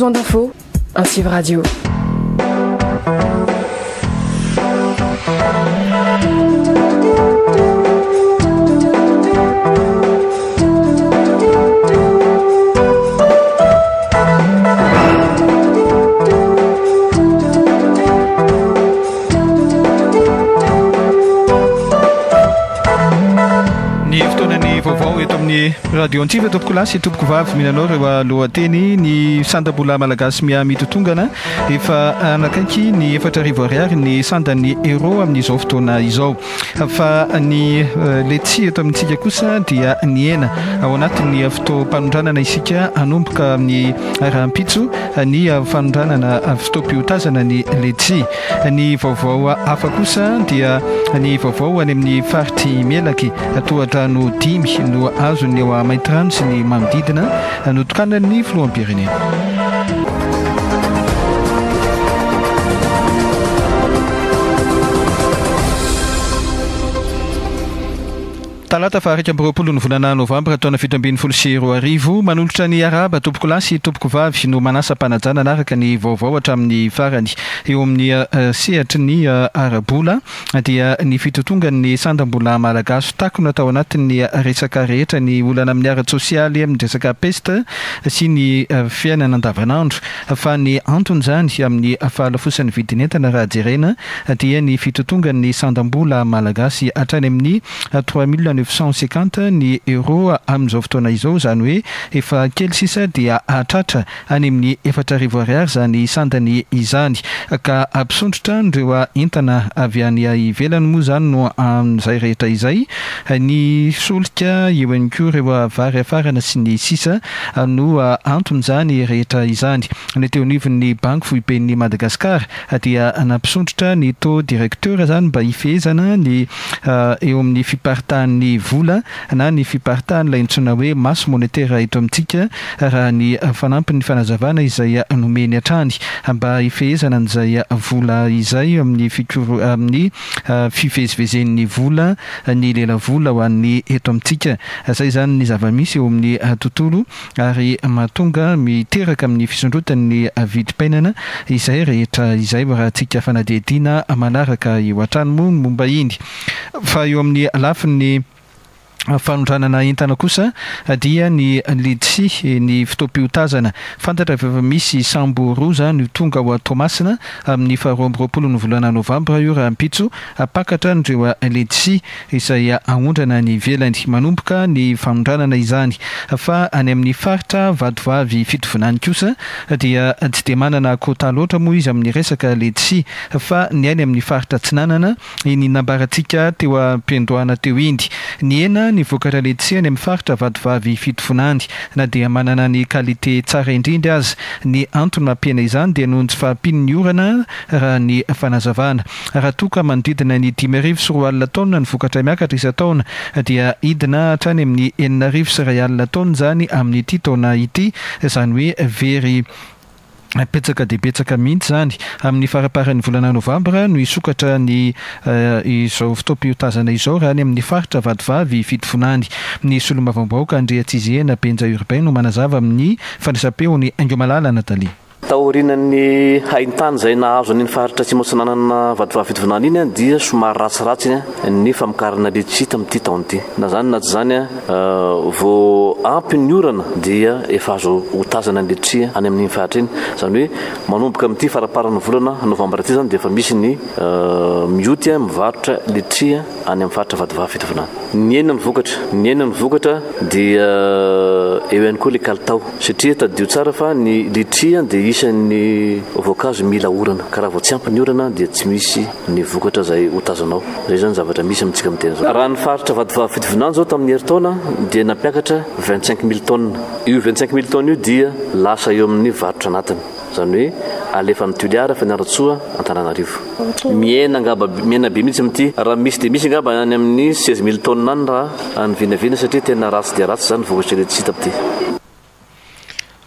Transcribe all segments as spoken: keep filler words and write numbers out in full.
Besoin d'infos? Antsiva Radio. Ny fotoanany vaovao eto amin'ny radio Antsiva, tompoko lahy sy tompoko vavy, mihinanao ireo lohateny. Ny sandam-bola malagasy miha mitotongana, efa anakaiky ny efatra arivo ariary ny sandan'ny euro amin'izao fotoana izao. Fa ny letchi eto amintsika kosa dia nihena. Ao anatin'ny fotoam-panondranana isika, hanomboka amin'ny rahampitso ny fanondranana fotoam-piotazana ny letchi. Ny vaovao hafa kosa dia ny vaovao any amin'ny faritry Melaky, tohadrano dimy no azon'ny eo Maintirano sy ny manodidina notokanan'ny filoham-pirenena. Talata faha iraika amby roapolo ny volana novambra taona fito ambin'ny folo sy roa arivo. Manolotra ny arahaba tompoko lahy sy tompoko vavy no manasa mpanajana anaraka ny vaovao hatramin'ny farany. Eo amin'ny sehatry ny ara-bola dia ny fitotongan'ny sandam-bola malagasy takona tao anatin'ny resaka rehetra, ny olana amin'ny ara-tsosialy, amin'ny resaka peste sy ny fiainana andavanandro. Fa ny antony izany amin'ny fahalafosan'ny vidin'entana raha jerena dia ny fitotongan'ny sandam-bola malagasy hatrany amin'ny trois mille neuf cent cinquante ny euro amin'izao fotoana izao, izany hoe efa kely sisa dia hatratra any amin'ny efatra arivo ariary izany sandany izany. Ka ampisondrotra ireo entana avy any ivelany moa izany no amin'izay rehetra izay, ny solika eo ihany koa ireo vary afarana sy ny sisa no anton'izany rehetra izany. Ny teo anivon'ny banky foiben'ny Madagasikara dia nampisondrotra ny taux directeur izany mba hifehezana ny eo amin'ny fiparitahan'ny vola na ny fiparitahan'ilay antsoina hoe masse monétaire eto amintsika, raha ny fanampin'ny fanazavana izay nomeny hatrany mba hifehezana an'izay vola izay amin'ny fikoro-, amin'ny fivezivezen'ny vola, ny lelavola ho an'ny eto amintsika. Izay izany ny zava-misy eo amin'ny tontolo ary mahatonga miteraka amin'ny fisondrotan'ny vidim-piainana izay rehetra izay, raha tsika fanadihadiana manaraka eo hatrany moa ny momba iny. Fa eo amin'ny lafiny fanondranana entana kosa dia ny letchi, ny fotoam-piotazana. Fantatra fa efa misy sambo roa izany tonga ao Toamasina amin'ny faharoa amby roapolo ny volana novambra io rahampitso, hampakatra an'ireo letchi izay aondrana any ivelany. Manomboka ny fanondranana izany. Fa any amin'ny faritra Vatovavy Fitovinany kosa dia tsy dia manana quota loatra moa izy amin'ny resaka letchi, fa ny any amin'ny faritra Atsinanana iny nambarantsika teo am-piandohana teo iny. Nihena ny vokatra letchi any amin'ny faritra Vatovavy Fitovinany na dia manana ny qualité tsara indrindra aza. Ny antony mampihena izany dia noho ny tsy fahampian'ny orana raha ny fanazavana. Raha toa ka manodidina ny dimy arivo sy roa alina taonina ny vokatra miakatra isan-taona dia hidina hatrany amin'ny enina arivo sy iray alina taonina izany amin'ity taona ity, izany hoe very betsaka dia betsaka mihitsy izany. Amin'ny faramparan'ny volana novambra no hisokatra ny izao fotoam-piotazana izao raha any amin'ny faritra Vatovavy Fitovinany. Ny solombavambahoaka Andriatsizehena Benja Urbain no manazava amin'ny fandraisam-peony Aingomalala Nathalie. Taorian'ny haintany izay nahazo an'iny faritra Atsimo Atsinanana Vatovavy Fitovinany iny dia somary ratsiratsy ny famokarana letchi tamin'ity taona ity. Na izany na tsy izany, vao ampy ny orana dia efa azo hotazana ny letchi any amin'iny faritra iny. Izany hoe manomboka amin'ity faramparan'ny volana novambra ity izany dia efa misy ny mioty mivarotra letchi any amin'ny faritra Vatovavy Fitovinany. Nihena ny vokatra, nihena ny vokatra dia eo ihany koa ilay kalitao, satria tadidio tsara fa ny letchi dia isan'ny voankazo mila orana, ka raha vao tsy ampy ny orana dia tsy misy ny vokatra izay hotazanao. Izay izany zavatra misy amintsika amin'ny tena izao. Raha ny faritra Vatovavy Fitovinany izao tamin'ny herintaona dia nampiakatra vingt-cinq mille tonnes. Io vingt-cinq mille tonnes io dia lasa eo amin'ny varotra anatiny, izany hoe alefa amin'ny Toliara, Fianarantsoa, Antananarivo. Mihena angamba, mihena be mihitsy amin'ity. Raha misy dia misy angamba any amin'ny seize mille tonnes any raha any vinavina, satria tena ratsy dia ratsy izany vokatra letchi tamin'ity.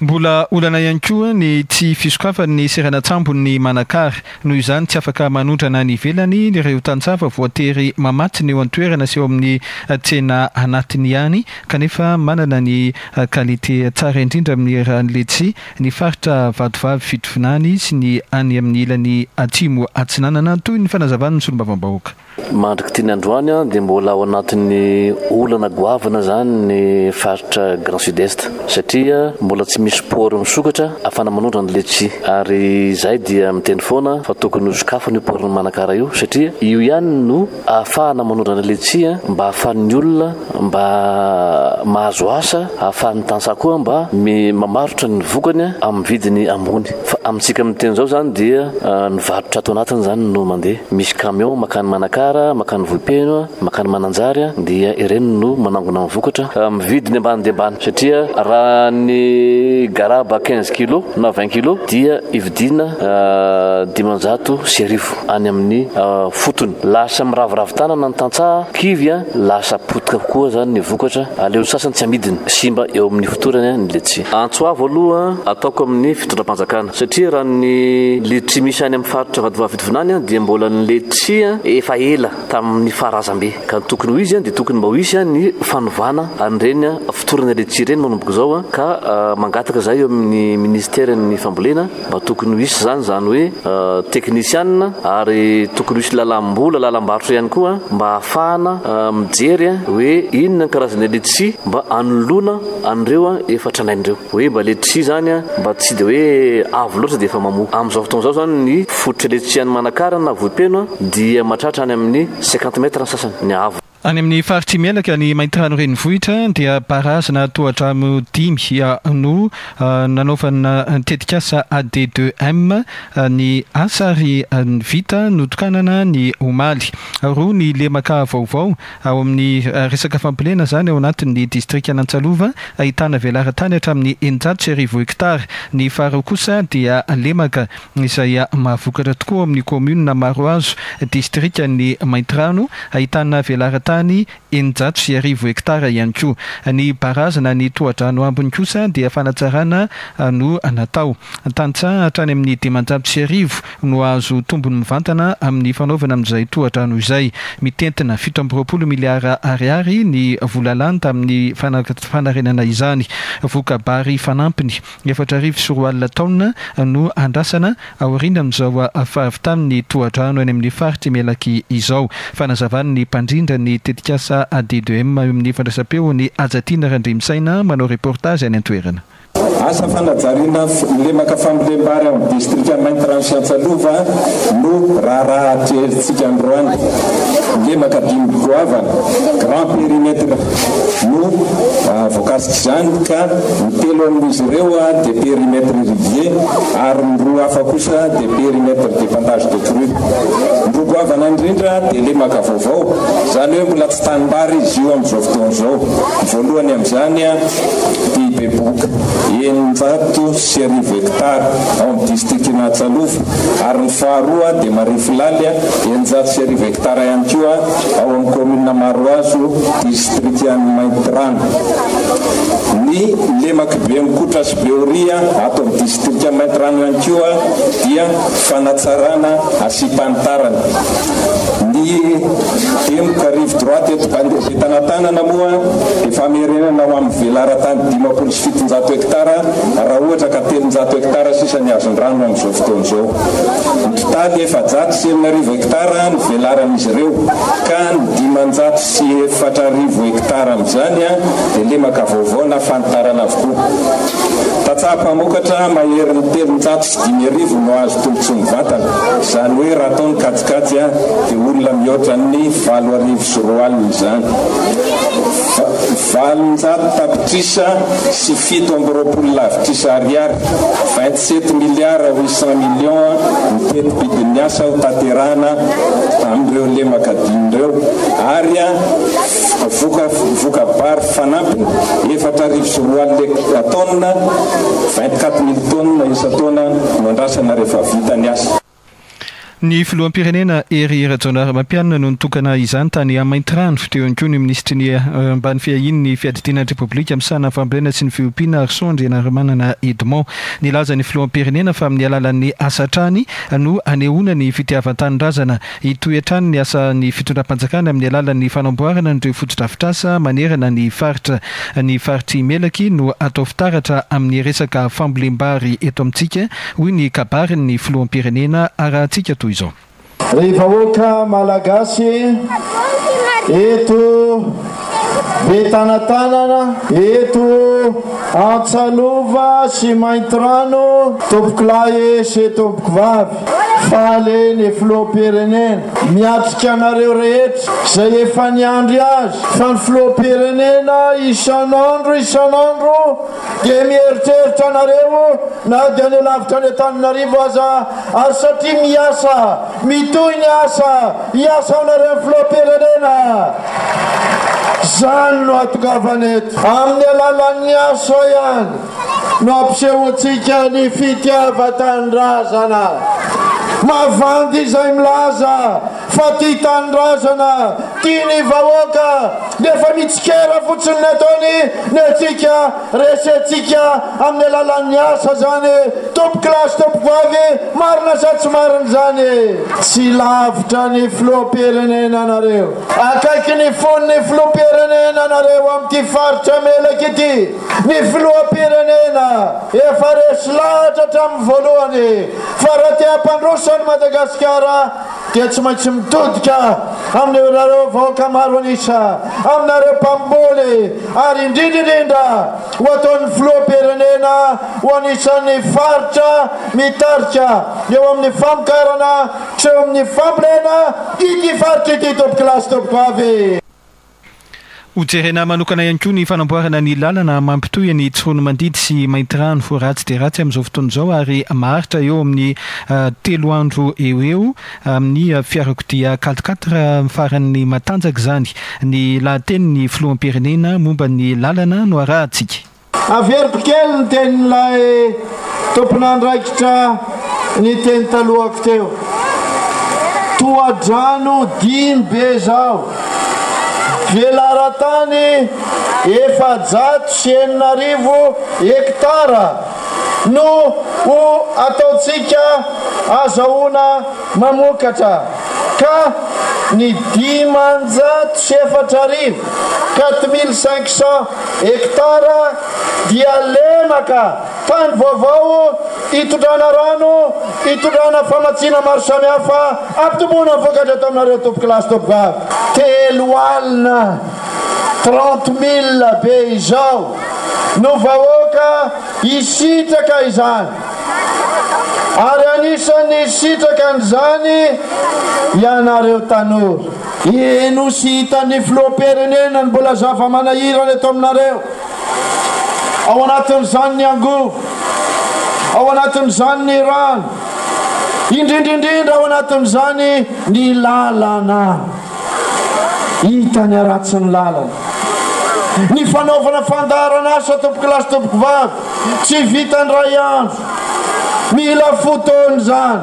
Mbola olana ihany koa ny tsy fisokafan'ny seranan-tsambon'ny Manakara. Noho izany, tsy afaka manondrana any ivelany ireo tantsaha fa voatery mamatsy ny eo an-toerana sy eo amin'ny tsena anatiny ihany, kanefa manana ny qualité tsara indrindra amin'ny raha ny letchi ny faritra Vatovavy Fitovinany sy ny any amin'ny ilany atsimo atsinanana, toy ny fanazavan'ny solombavambahoaka. Mandriky ty ny androany dia mbola ao anatin'ny olana goavana zany ny faritra Grand Sud-Est, satria mbola tsy misy port misokatra ahafahana manondrana ny letchi, ary izay dia miteny foana fa tokony hosokafana io port ny Manakara io, satria io ihany no ahafahana manondrana letchi mba ahafahan'ny olona mba mahazo asa, ahafahan'ny tantsaha koa mba mamarotra ny vokany amin'ny vidiny ambony. Fa amintsika miteny zao zany dia ny varotra ato anatiny zany no mandeha, misy camion makany Manakara, makany Vohipeno, makany Mananjary, dia ireny no manangona ny vokatra amin'ny vidiny ambany dia ambany, satria raha ny garaba quinze kilo na vingt kilo dia ividiana dimanjato sy arivo any amin'ny fotony. Lasa miraviravy tanana ny tantsaha kivy, lasa potika kokoa zany ny vokatra, aleo sasany tsy amidiny, simba eo amin'ny fotorany ny letchi. Antso avo aloha ataoko amin'ny fitondram-panjakana, satria raha ny letchi misy any amin'ny faritra Vatovavy Fitovinany dia mbola ny letchi efa ela tamin'ny faharazambe, ka ny tokony ho izy dia tokony mba ho isy ny fanovana an'ireny fotorana letchi ireny manomboka izao, ka mangataka zay eo amin'ny ministeran'ny fambolena mba tokony ho isy zany zany hoe teknisianina, ary tokony ho isy lalam-bola, lalam-barotra ihany koa mba ahafahana mijery hoe inona ny karazana letchi mba anoloana an'ireo efa tranainy ireo, hoe mba letchi zany mba tsy de hoe avo loatra dia efa mamoa. Amin'izao fotoana izao zany ny fototra letchi any Manakara na Vohipeno dia mahatratra any amin'ny cinquante mètres ny sasany ny avo. Any amin'ny faritry Melaky ny Maintirano renivohitra dia barazy-na tohadrano dimy no nanaovana tetikasa A D deux M ny asa ary vita notokanana ny omaly. Roa ny lemaka vaovao ao amin'ny resaka fambolena zany ao anatin'ny distrika Anantsalova, ahitana velaran-tany hatramin'ny eninjato sy arivo hektara. Ny faharoa kosa dia lemaka izay mahavokatra tokoa amin'ny commune Marohazo, distrika ny Maintirano, ahitana velaran-tany eninjato sy arivo hektara ihany koa. Ny barazina ny tohadrano ambiny kosa dia fanatsarana no natao. Tantsaha hatrany amin'ny dimanjato sy arivo no azo tombony mivantana amin'ny fanaovana amin'izay tohadrano izay. Mitentina fito amby roapolo miliara ariary ny vola lany tamin'ny fanarenana izany. Voka-bary fanampiny efatra arivo sy roa alina taonina no andrasana aoriana amin'izao fahavitan'ny tohadrano any amin'ny faritry Melaky izao. Fanazavan'ny mpandrindra ny tetikasa A D deux M amin'ny fandraisam-peo ny Hajatina Randriamisaina manao reportage any an-toerana. Asa fanajariana lemaka fambolem-bary amin'ny distrika Maintirano sy Antsalova no raharaha atrehintsika androany. Lemaka dimy goavana, grand périmètre no voakasik'izany, ka ny telo amin'izy ireo dia périmètre irrigué ary ny roa hafa kosa dia périmètre d'épandage de crue. Ny roa goavana indrindra dia lemaka vaovao, izany hoe mbola tsy tanimbary izy io amin'izao fotoana izao. Ny voalohany amin'izany dia Beboka eninjato sy arivo hektara ao amin'ny distrikan'Antsalova, ary ny faharoa dia Marifilaly eninjato sy arivo hektara ihany koa ao amin'ny commune Marohazo, distrikan'i Maintirano. Ny lemaky Bemokotra sy Beoria ato amin'ny distrika Maintirano ihany koa dia fanatsarana asiam-panitarana. Ny demoka rive droite eto Betanatanana moa dia famerenana ho amin'ny velaran-tany dimampolo sy fitonjato hektara, raha ohatra ka telonjato hektara sisa ny azon-drano amin'izao fotoana izao. Ny totaly efajato sy enina arivo hektara ny velaran'izy ireo, ka ny dimanjato sy efatra arivo hektara amin'izany dia lemaka vaovao na fanitarana avokoa. Tantsaha mpamokatra maherin'ny telonjato sy dimy arivo no azo tombontsoa mivantana, izany hoe raha atao ny kajikajy dia olona mihoatra ny valo arivo sy roa alina izany. Valonjato tapitrisa sy fito amby roapolo lavitrisa ariary, vingt-sept milliards huit cent millions ny teti-bidin'ny asa ho tanterahana amin'ireo lemaka dimy ireo, ary voka-, voka-bary fanampiny efatra arivo sy roa alina taonina, vingt-quatre mille taonina isan-taona no andrasana rehefa vita ny asa. Ny filoham-pirenena Hery Rajaonarimampianina no nitokana izany tany Maintirano. Teo ihany koa ny minisitry ny ambany fiahian'ny fiadidiana ny Repoblika misahana fambolena sy ny fiompiana, Arson Andrianarimanana Edmond. Nilaza ny filoham-pirenena fa amin'ny alalan'ny asa hatrany no anehoana ny fitiavan-tanindrazana. Hitohy hatrany ny asan'ny fitondram-panjakana amin'ny alalan'ny fanamboarana an'ireo fotodrafitrasa manerana ny faritra. Ny faritry Melaky no atao fitaratra amin'ny resaka fambolem-bary eto amintsika, hoy ny kabarin'ny filoham-pirenena arahantsika toy izao. Ry vahoaka malagasy eto Betanatanana, eto Antsalova sy Maintirano, tompokolahy sy tompokovavy, faly ny filoham-pirenena miatrika anareo rehetra izay efa niandry azy, fa ny filoham-pirenena isan'andro isan'andro dia mieritreritra anareo na dia any lavitra any Antananarivo aza, ary satria miasa, mitohy ny asa, hiasa anareo filoham-pirenena. Zany no atongavana eto, amin'ny alalan'ny asa ihany no ampisehoantsika ny fitiavan-tanindrazana. Mavandy izay milaza fa tia tanindrazana, tia ny vahoaka, nefa mitsikera fotsiny ny ataony. Ny antsika resentsika amin'ny alalan'ny asa zany. Tompokolahy sy tompokovavy, marina sa tsy marina zany? Tsy lavitra ny filoham-pirenena anareo, akaiky ny fon'ny filoham-pirenena anareo amin'ity faritra Melaky ity. Ny filoham-pirenena efa resy lahatra hatramin'ny voalohany fa raha te hampandroso an'i Madagasikara dia tsy maintsy mitodika amin'ireo vahoaka maro an'isa, aminareo mpamboly, ary indrindra indrindra ho ataon'ny filoham-pirenena ho anisan'ny faritra mitarika eo amin'ny famokarana sy eo amin'ny fambolena ity faritra ity, tompokolahy sy tompokovavy. Hojerena manokana ihany koa ny fanamboarana ny lalana mampitohy ny Tsiroanomandidy sy Maintirano. Ratsy dia ratsy amin'izao fotoana izao ary maharitra eo amin'ny telo andro eo eo amin'ny fiarakodia quatre-quatre faran'ny matanjaka izany. Ny lahatenin'ny filoham-pirenena momba ny lalana no arahantsika. Averiko kely ny tenin'ilay tompon'andraikitra ny teny talohako teo. Tohadrano dimy be zao, velaran-tany efajato sy enina arivo hektara no ho ataontsika azahoana mamokatra, ka ny dimanjato sy efatra arivo quatre mille cinq cents hektara dia lemaka tany vaovao hitondrana rano, hitondrana famatsiana maro samihafa, ampitomboana ny vokatra eto aminareo tompokolahy sy tompokovavy. Telo alina trente mille be izao no vahoaka hisitraka izany, ary anisan'ny hisitraka an'izany ianareo tanora. Eno sy hitan'ny filoham-pirenena ny mbola zava-manahirana eto aminareo. Ao anatin'izany ny angovo, ao anatin'izany ny rano, indrindra indrindra ao anatin'izany ny lalana. Hita ny haratsin'ny lalana. Ny fanaovana fandaharana asa, tompokolahy sy tompokovavy, tsy vita ny ray andro, mila fotoana izany.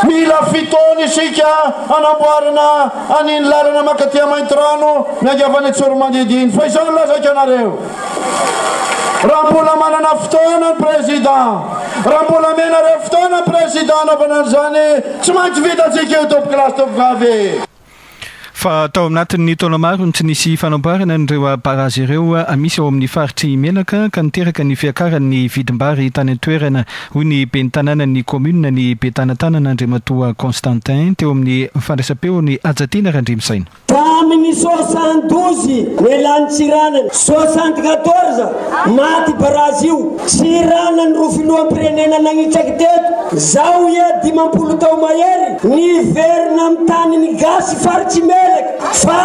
Mila fotoana isika hanamboarana an'iny lalana mankaty Maintirano miainga avy any Tsiroanomandidy iny. Fa izao no lazaiko anareo, raha mbola manana fotoana ny président, raha mbola menareo fotoana ny président hanaovana an'izany, tsy maintsy vitantsika io, tompokolahy sy tompokovavy. Fa tao anatin'ny taona maro no tsy nisy fanamboarana an'ireo barazy ireo misy ao amin'ny faritry Menaka, ka niteraka ny fiakaran'ny vidim-bary tany an-toerana, hoy ny ben'ny tanànan'ny commune ny Betanatanana Andriamatoa Constantin teo amin'ny fandraisam-peony Hajatiana Randriamisaina. Tamin'ny soixante-douze nialany Tsiranana, soixante-quatorze maty barazy io. Tsiranana ro filoham-pirenena nagnitsaky teto, zaho ia dimampolo tao mahery niverina amin'ny taniny gasy faritsy Melaky fa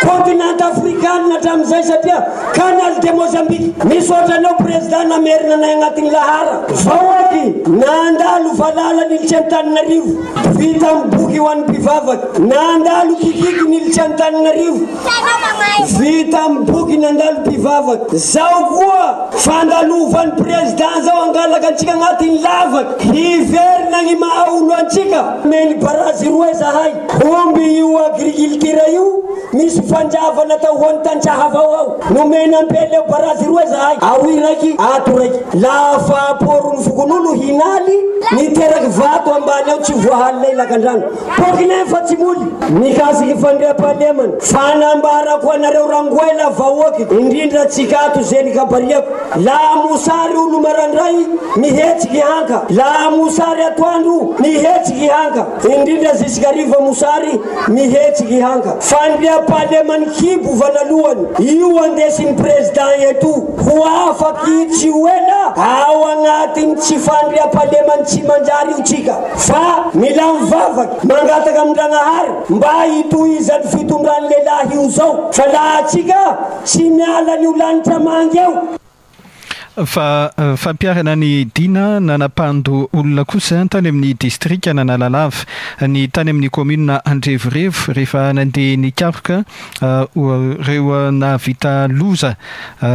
continent afrikanina hatramin'izay satria canal de Mozambique. Misaotra anao président namerina anay agnatin'ny lahara. Vahoaky nandalo valala nilitsy Antananarivo, vita amin'ny boky ho an'ny mpivavaka, nandalo kikiky nilitsy Antananarivo vita amin'ny boky nandalo mpivavaka zao koa fandalovan'ny président zao angalaka antsika agnatin'ny lavaka hiverina ny maha olo antsika meny barazy roe zahay omby io agriculture io misy fanjavana atao ho an'ny tantsaha avao ao nomena ampeleo barazy roe zahay aroy raiky ato raiky lafa porony fokonolo hinaly niteraky vato ambany ao tsy voahalina lakandrano poky nefa tsy moly mikasiky fandriampahalemana fanambarako anareo rangoela vahoaky indrindra tsikato zeny kabariako laha mosary olo marandray mihetsiky hanka laha mosary atoandro mihetsiky hanka indrindra zisikariva mosary mihetsiky hanka fandriampahalemany kibo vanalohany io andesin'ny président eto ho afaky tsy ho ela ao agnatiny tsy fandriampahalemany tsy manjary io tsika fa mila mivavaky mangataka amin-dragnahary mba hitohizany fitondrany lehilahy io zao fa laha atsika tsy miala ny lanitra mangy eo. Fa fampiharana ny dina nanapando olona kosa tany amin'ny distrika Analalava, ny tany amin'ny commune Andrevorevo, rehefa nandeha nikaroka ireo nahavita loza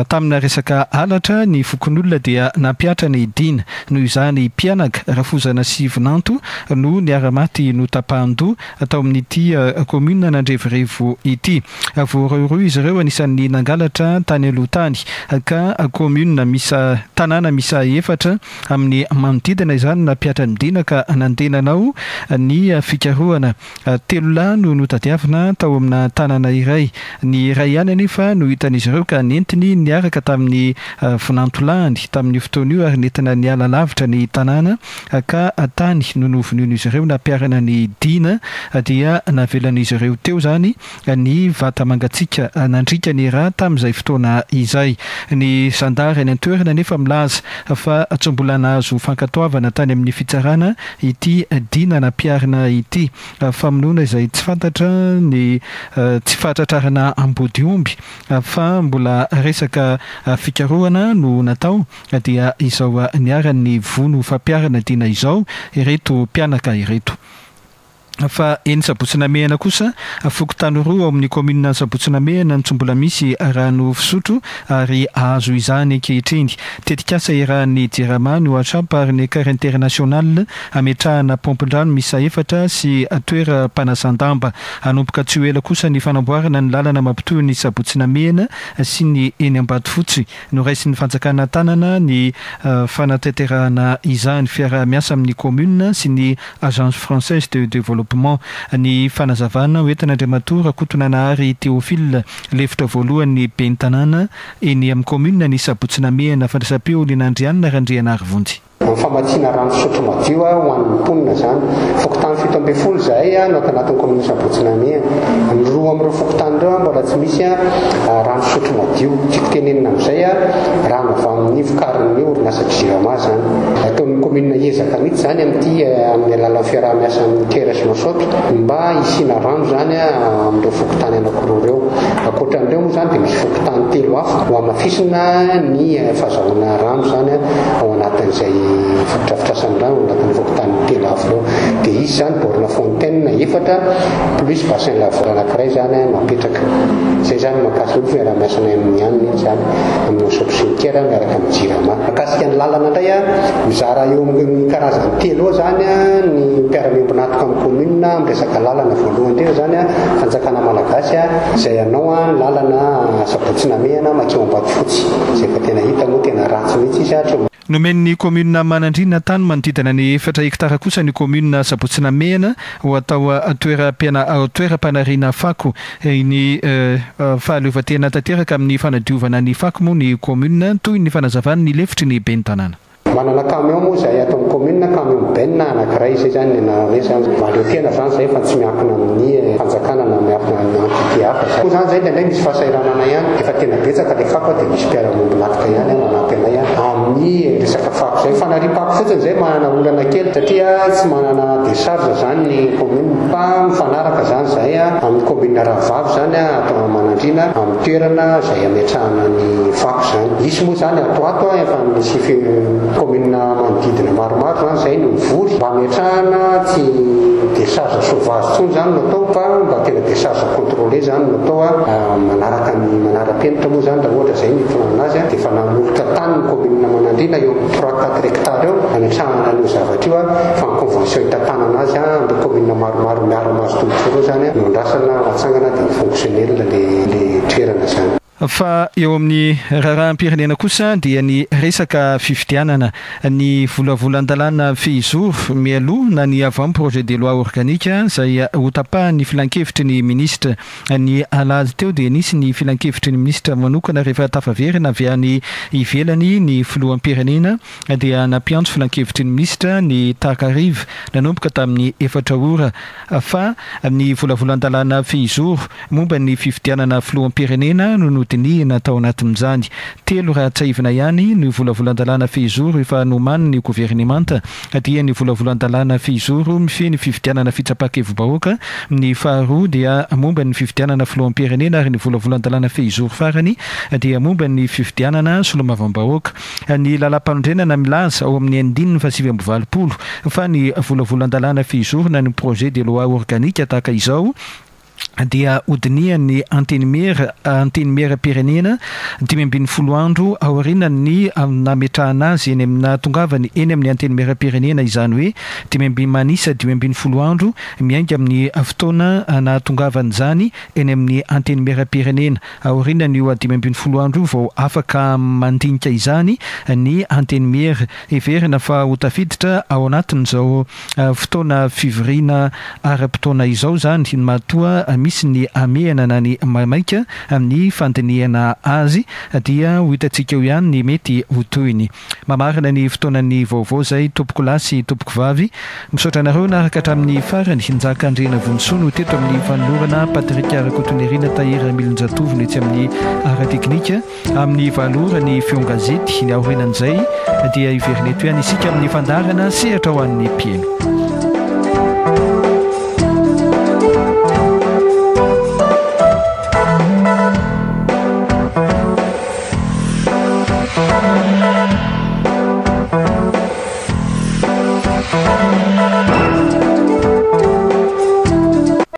tamina resaka halatra ny fokonolona dia nampihatra ny dina. Noho izany mpianaka rafozana sy vinanto no niara-maty notapahan-doha tao amin'ity commune Andrevorevo ity. Voarohirohy izy ireo anisan'ny nangalatra tany aloha tany ka commune misy tanàna misy efatra amin'ny manodidina izany nampihatra ny dina ka nandeha nanao ny fikarohana. Telo lahy no notadiavina tao amina tanàna iray, ny iray ihany anefa no hitan'izy ireo ka nentiny niaraka tamin'ny vinantolahany tamin'ny fotoana io ary nentina niala lavitra ny tanàna ka tany no novonoin'izy ireo nampiharana ny dina dia navelan'izy ireo teo izany ny vata mangatsiaka nandrika ny rà tamin'izay fotoana izay. Ny zandary any an-toerana nefa milaza fa tsy mbola nahazo fankatoavana tany amin'ny fitsarana ity dina nampiharina ity. Famonoana izay tsy fantatra ny tsy fahatratrarana ambodiomby fa mbola resaka fikarohana no natao dia izao niharan'ny vono fampiharana dina izao ireto mpianaka ireto. Fa eny Sabotsy Namehana kosa fokontany roa ao amin'ny commune Sabotsy Namehana no tsy mbola misy rano fisotro ary azo izany ankehitriny. Tetikasa iarahan'ny Jirama, ny Oachap ary ny Care International ametrahana paompin-drano miisa efatra sy toeram-panasan-damba. Hanomboka tsy ho ela kosa ny fanamboarana ny lalana mampitohy ny Sabotsy Namehana sy ny eny Ambatofotsy. Noraisin'ny fanjakana tanana ny fanatanterahana izany fiaraha-miasa amin'ny commune sy ny Agence française de développement. Ny fanazavana hoentin'Andriamatoa Rakotonanahary Théophile, lefitra voalohany ben'ny tanàna eny amin'ny commune ny Sabotsy Namehana, fandraisam-peo Linandrianina Randrianarivonjy. Ny famatsiana rano fisotro madio ho an'ny mponina izany. Fokontany fito ambin'ny folo izahay no ato anatin'ny commune Sabotsy Namehana. Ny roa amin'ireo fokontany ireo mbola tsy misy rano fisotro madio. Tiako tenenina amin'izay rano avy amin'ny vokarin'ny orinasa Jirama izany. Ataon'ny commune ezaka mihitsy izany amin'ity amin'ny alalan'ny fiaraha-miasa amin'ny Care sy Masopy mba hisiana rano izany amin'ireo fokontany anankiroa ireo. Ankoatran'ireo moa izany dia misy fokontany telo hafa ho hamafisina ny fahazahoana rano izany ao anatin'izay fotodrafitrasan'ny rano ao anatin'ny fokontany telo hafa ireo. Dia izy izany borne fontaine efatra plus bassin laveur anankiray izany no apetraka. Izay izany mahakasika ny fiaraha-miasanay amin'ny aniny iny izany amin'ny Masopy sy ny Care miaraka amin'ny Jirama. Mahakasika ny lalana indray mizara eo amin'ny karazany telo eo izany ny mpiara-miombon'antoka amin'ny commune amin'ny resaka lalana. Voalohany indrindra izany fanjakana malagasy izay hanao ny lalana Sabotsy Namehana makeo Ambatofotsy izay efa tena hita moa tena ratsy mihitsy izy hatreo. Nomen'ny commune Manandriana tany manodidina ny efatra hektara kosa ny commune Sabotsy Namehana ho atao toeram-panariana fako. Ny fahaleovantena tanteraka amin'ny fanadiovana ny fako moa ny commune toy ny fanazavany ny lefitry ny ben'ny tanàna. Manana camion moa izay ato amin'ny commune, camion ben anankiray izay izany ny anarana izany. Mahaleo tena izany izay fa tsy miankina amin'ny fanjakana na miankina amin'ny entité hafa izany. Koa izany izay indraindray misy fahasahiranana ihany, efa tena betsaka ilay fako dia misy mpiara-miombon'antoka ihany manampy anay amin'ny resaka fako izay. Fanariam-pako fotsiny izay manana olana kely satria tsy manana décharge izany ny commune fa mifanaraka izany izay amin'ny commune rahavavy izany ato Manandriana amin'ny toerana izay ametrahana ny fako izany. Misy moa zany ato ato efa misy commune manodidina maromaro zany zay no mivory mba ametrahana tsy décharge sauvage tsony zany no atao fa mba tena décharge contrôlé zany no atao a manaraka ny manara-penitra moa zany raha ohatra zay ny filanana azy a dia efa nanolotra tany ny commune Manandriana eo amin'ny trois quatre hectares eo ametrahana an'io zavatra io a fa ny convention hitantanana azy a am'le commune maromaro miara-mahazo tombontsoa reo zany a no andrasana atsangana dia fonctionnel le le toerana zany. Fa eo amin'ny raharaham-pirenena kosa dia ny resaka fifidianana, ny volavolan-dalàna fehizoro mialoha na ny avant projet de loi organique zay hotapahan'ny filankevitry ny ministra. Ny alahady teo dia nisy ny filankevitry ny ministra manokana rehefa tafaverina avy any ivelany ny filoham-pirenena, dia nampiantso filankevitry ny ministra ny takariva nanomboka tamin'ny efatra ora, fa ny volavolan-dalàna fehizoro momba ny fifidianana filoham-pirenena no nodinihina tao anatin'izany. Telo raha tsiahivina ihany ny volavolan-dalàna fehizoro efa nomany ny governemanta, dia ny volavolan-dalàna fehizoro mifehy ny fifidianana fitsapan-kevi-bahoaka, ny faharoa dia momba ny fifidianana filoham-pirenena, ary ny volavolan-dalàna fehizoro farany dia momba ny fifidianana solombavambahoaka. Ny lalam-panorenana milaza ao amin'ny andininy fahasivy amby valopolo fa ny volavolan-dalàna fehizoro na ny projet de loi organique tahaka izao dia hodinihan'ny antenimiera antenimieram-pirenena dimy ambin'ny folo andro aorian'ny nametrahana azy eny amina tongavany eny amin'ny antenimieram-pirenena, izany hoe dimy amby manisa dimy ambin'ny folo andro miainga amin'ny fotoana nahatongavany zany eny amin'ny antenimieram-pirenena. Aorian'io dimy ambin'ny folo andro vao afaka mandinika izany ny antenimiera. Heverina fa ho tafiditra ao anatin'izao fotoana fivoriana ara-potoana izao zany matoa misy ny hamehana na ny maimaika amin'ny fandinihana azy, dia ho hitantsika eo ihany ny mety ho tohiny. Mamarana ny fotoanany vaovao zay, tompoko lahy sy tompoko vavy, misaotra anareo naraka hatramin'ny farany. Njaka Andrena Vonsoa no teto amin'ny fanolorana, Patrick Rakotonirina Tahiry Milonjatovy no etsy amin'ny ara-teknika. Amin'ny valo ora ny feon-gazety, ny aorianan'izay dia hiverina eto ihany isika amin'ny fandaharana sehatra ho an'ny mpihaino.